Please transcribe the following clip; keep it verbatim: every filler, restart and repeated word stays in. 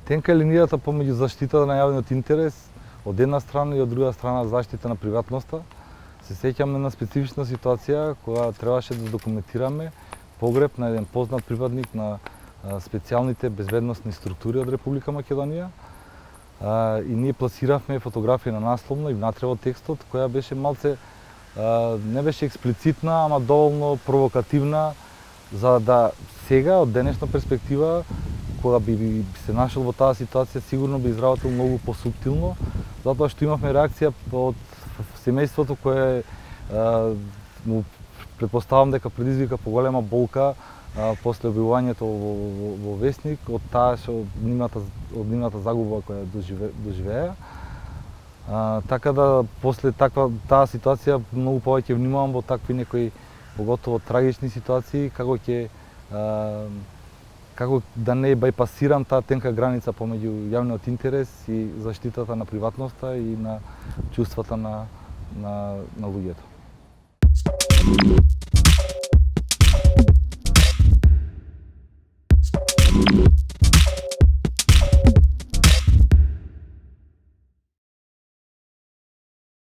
Тенка е линијата помеѓу заштитата на јавниот интерес од една страна и од друга страна заштита на приватноста. Се сеќаме на специфична ситуација кога требаше да документираме погреб на еден познат припадник на специјалните безбедносни структури од Република Македонија. И ние пласиравме фотографија на насловно и внатре во текстот, која беше малце, не беше експлицитна, ама доволно провокативна, за да сега, од денешна перспектива, кога би се нашол во таа ситуација, сигурно би изработил многу посуптилно, затоа што имавме реакција од семејството кое му претпоставам дека предизвика поголема болка а, после објавувањето во, во, во Весник од таа што нивната од нивната загуба која доживе, доживеа. А, така да после таква таа ситуација многу повеќе внимавам во такви некои поготово трагични ситуации како ќе како да не бајпасирам таа тенка граница помеѓу јавниот интерес и заштитата на приватноста и на чувствата на на, на луѓето. Thank you.